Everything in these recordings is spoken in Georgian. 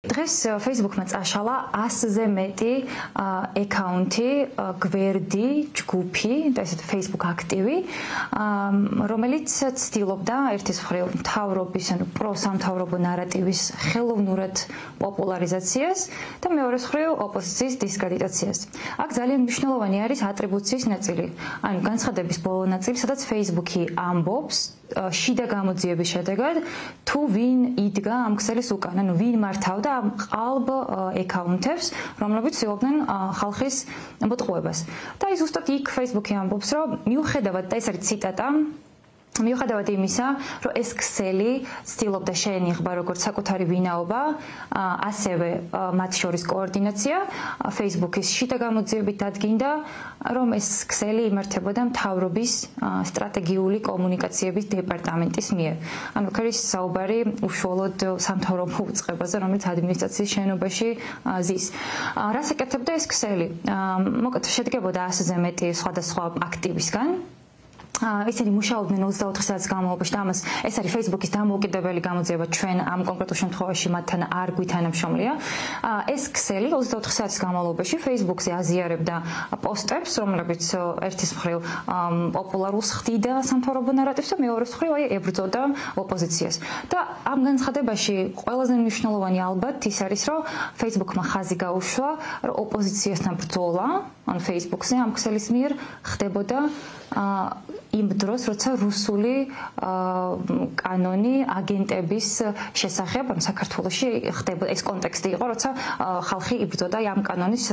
დღეს Facebook-მა წაშალა 100-ზე მეტი აკაუნტი, გვერდი, ჯგუფი, და ესეთ Facebook აქტივი, რომელიც ცდილობდა ერთის მხრივ მთავრობის, ანუ პროსამთავრობო ნარატივის ხელოვნურად პოპულარიზაციას და მეორეს მხრივ ოპოზიციის დისკრედიტაციას. აქ ძალიან მნიშვნელოვანი არის ატრიბუციის ნაწილი, ანუ განცხადების ბოლო ნაწილი, სადაც Facebook-ი ამბობს შიდა გამოძიების შედეგად თუ ვინ იდგა ამ ქსელის უკან, ანუ ვინ მართავდა ამ ყალბ აკაუნტებს, რომლებიც ცდილობდნენ ხალხის მოტყუებას. და ის ზუსტად იქ Facebook-ი ამბობს, რომ მიუხედავად, და ეს არის ციტატა, მიუხედავად იმისა, რომ ეს ქსელი ცდილობდა შეენიღბა როგორც საკუთარი ვინაობა, ასევე მათ შორის კოორდინაცია, Facebook-ის შიდა გამოძიებით დადგინდა, რომ ეს ქსელი იმართებოდა მთავრობის სტრატეგიული კომუნიკაციების დეპარტამენტის მიერ. ანუ აქ არის საუბარი უშუალოდ სამთავრობო უწყებაზე, რომელიც ადმინისტრაციის შენობაში ზის. რას ეკეთებდა ეს ქსელი? მოკლედ შედგებოდა 100-ზე მეტი სხვადასხვა აქტივისგან. ისინი მუშაობდნენ 24 საათის განმავლობაში და ამას ეს არის Facebook-ის დამოუკიდებელი გამოძიება, ჩვენ ამ კონკრეტულ შემთხვევაში მათთან არ გვითანამშრომლია. ეს ქსელი 24 საათის განმავლობაში Facebook-ზე აზიარებდა პოსტებს, რომლებიც ერთის მხრივ პოპულარულს ხდიდა სამთავრობო ნარატივს და მეორეს მხრივ ებრძოდა ოპოზიციას. და ამ განცხადებაში ყველაზე მნიშვნელოვანი ალბათ ის არის, რომ Facebook-მა ხაზი გაუშვა, რომ ოპოზიციასთან ბრძოლა, ან Facebook-ზე ამ ქსელის მიერ ხდებოდა იმ დროს, როცა რუსული კანონი აგენტების შესახებ, ან საქართველოში ხდებოდა ეს კონტექსტი იყო, როცა ხალხი იბრძოდა ამ კანონის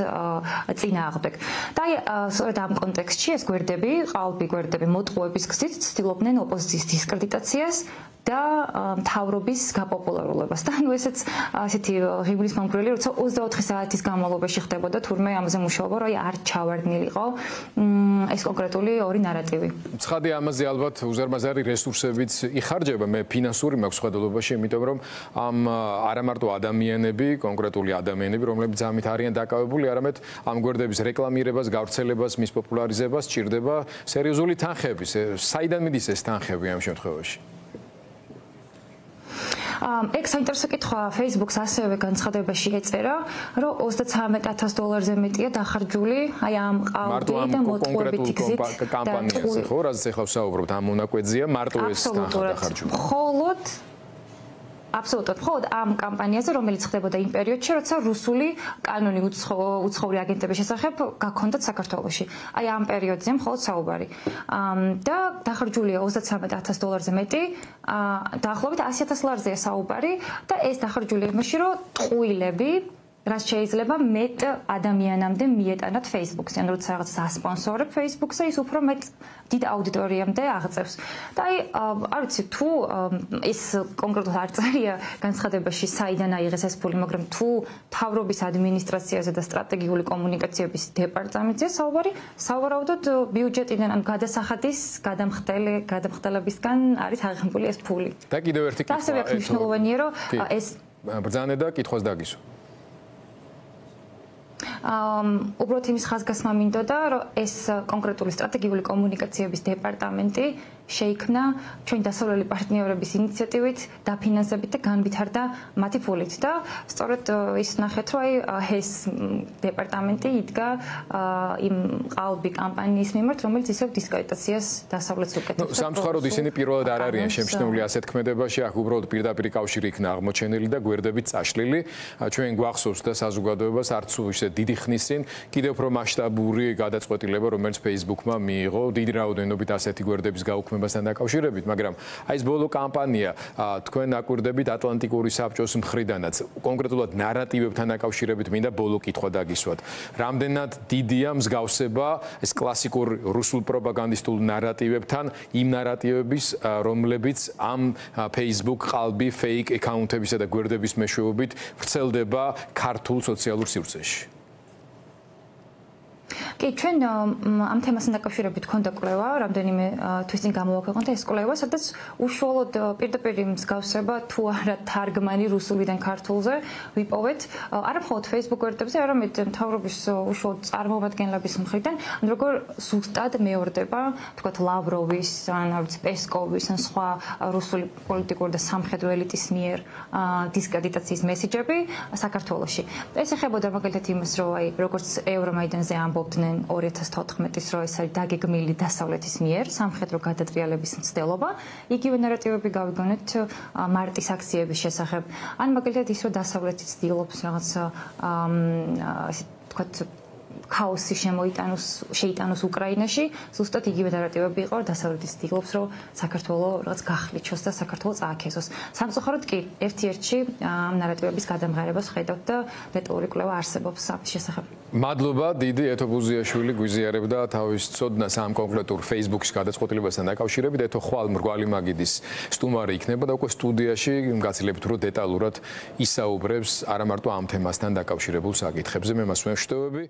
წინააღმდეგ. და სწორედ ამ კონტექსტში ეს გვერდები, ყალბი გვერდები მოტყუების გზით ცდილობდნენ ოპოზიციის დისკრედიტაციას და მთავრობის გაპოპულარულებას. და ანუ ესეც ასეთი ღიმილის მომგვრელი, როცა 24 საათის განმავლობაში ხდებოდა თურმე ამაზე მუშაობა, რომ არ ჩავარდნილიყო ეს კონკრეტული ორი ნარატივი. ცხადი ამაზე ალბათ უზარმაზარი რესურსებიც იხარჯება, მე ფინანსური მაქვს ხედულობაში, იმიტომ რომ ამ არა მარტო ადამიანები, კონკრეტული ადამიანები, რომლებიც ამით არიან დაკავებული, არამედ ამ გვერდების რეკლამირებას, გავრცელებას, მის პოპულარიზებას სჭირდება სერიოზული თანხები. საიდან მიდის ეს თანხები ამ შემთხვევაში? ეგ საინტერესო კითხვა. Facebook-ს ასევე განცხადებაში ეწერა, რომ $33,000-ზე მეტია დახარჯული აი ამ ყალბი და მოტყუებითი გზით კამპანიაზე, ხო? რაზეც ახლა ვსაუბრობთ, ამ მონაკვეთზეა მარტო ეს დახარჯული. აბსოლუტურად მხოლოდ ამ კამპანიაზე, რომელიც ხდებოდა იმ პერიოდში, როცა რუსული კანონი უცხოური აგენტების შესახებ გაქონდათ საქართველოში. აი ამ პერიოდზე მხოლოდ საუბარი. და დახარჯულია $33,000-ზე მეტი, დაახლოებით $100,000-ზეა საუბარი და ეს დახარჯულია იმაში, რომ ტყუილები რაც შეიძლება მეტ ადამიანამდე მიეტანათ Facebook-ზე, ან როცა რაღაც ასპონსორებ Facebook-ზე, ის უფრო მეტ დიდ აუდიტორიამდე აღწევს. და არ ვიცი თუ ეს კონკრეტულად არ წერია განცხადებაში, საიდან აიღეს ეს ფული, მაგრამ თუ მთავრობის ადმინისტრაციაზე და სტრატეგიული კომუნიკაციების დეპარტამენტზე საუბარი, სავარაუდოდ ბიუჯეტიდან, ან გადასახადის გადამხდელებისგან არის აღებული ეს ფული. და კიდევ ერთი კითხვა. ასევე მნიშვნელოვანია, რომ ეს ბრძანე და კითხვას დაგისვა. უბრალოდ იმის ხაზგასმა მინდოდა, რომ ეს კონკრეტული სტრატეგიული კომუნიკაციების დეპარტამენტი შეიქმნა ჩვენ დასავლელი პარტნიორების ინიციატივით, დაფინანსებით და განვითარდა მათი ფულით და სწორედ ის ნახეთ, რომ ეს დეპარტამენტი იდგა იმ ყალბი კამპანიის მიმართ, რომელიც ისევ დისკრედიტაციას დასავლეთს უკეთებს. სამწუხაროდ ისინი პირველად არ არიან შემჩნეული ასეთ ქმედებაში, აქ უბრალოდ პირდაპირ კავშირი იქნა აღმოჩენილი და გვერდებით წაშლილი. ჩვენ გვახსოვს და საზოგადოებას არც ისე დიდი ხნის წინ კიდევ უფრო მასშტაბური გადაწყვეტილება, რომელიც Facebook-მა მიიღო დიდი რაოდენობით ასეთი გვერდების გაუქმებასთან დაკავშირებით, მაგრამ აი ეს ბოლო კამპანია თქვენ აკვირდებით ატლანტიკური საბჭოს მხრიდანაც, კონკრეტულად ნარატივებთან დაკავშირებით მინდა ბოლო კითხვა დაგისვათ. რამდენად დიდია მსგავსება ეს კლასიკურ რუსულ პროპაგანდისტულ ნარატივებთან, იმ ნარატივების, რომლებიც ამ Facebook ყალბი fake აკაუნტებისა და გვერდების მეშვეობით ვრცელდება ქართულ სოციალურ სივრცეში? კი, ჩვენ ამ თემასთან დაკავშირებით გქონდა კვლევა, რამდენიმე თვის წინ გამოვაქვეყნეთ ეს კვლევა, სადაც უშუალოდ პირდაპირ მსგავსება თუ არა თარგმანი რუსულიდან ქართულზე ვიპოვეთ, არა მხოლოდ Facebook გვერდებზე, არამედ მთავრობის უშუალოდ წარმომადგენლების მხრიდან, როგორ ზუსტად მეორდება, თქვათ ლავროვის, ან არ ვიცი, პესკოვის, ან სხვა რუსული პოლიტიკური და სამხედრო ელიტის მიერ დისკრედიტაციის მესიჯები საქართველოში. ეს ეხებოდა მაგალითად იმას, რომ აი როგორც ევრომაიდანზე ამბობდნენ 2014-ის, რომ ეს არის დაგეგმილი დასავლეთის მიერ სამხედრო გადატრიალების მცდელობა, იგივე ნარატივები გავიგონეთ მარტის აქციების შესახებ. ან მაგალითად ის, რომ დასავლეთი ცდილობს რაღაც ასე თქვათ ქაოსი შეიტანოს უკრაინაში, ზუსტად იგივე ნარატივები იყო, დასავლეთი ცდილობს, რომ საქართველო რაღაც გახლიჩოს და საქართველო წააქეზოს. სამწუხაროდ კი, ერთ-ერთში ამ ნარატივების გადამღერებას ხედავთ და დეტალური კვლევა არსებობს ამის შესახებ. მადლობა, დიდი ეთო ბუზიაშვილი გვიზიარებდა თავის ცოდნას ამ კონკრეტულ Facebook-ის გადაწყვეტილებასთან დაკავშირებით. ეთო ხვალ მრგვალი მაგიდის სტუმარი იქნება და უკვე სტუდიაში გაცილებით უფრო დეტალურად ისაუბრებს არა მარტო ამ თემასთან დაკავშირებულ საკითხებზე. მე მას ვემშვიდობები.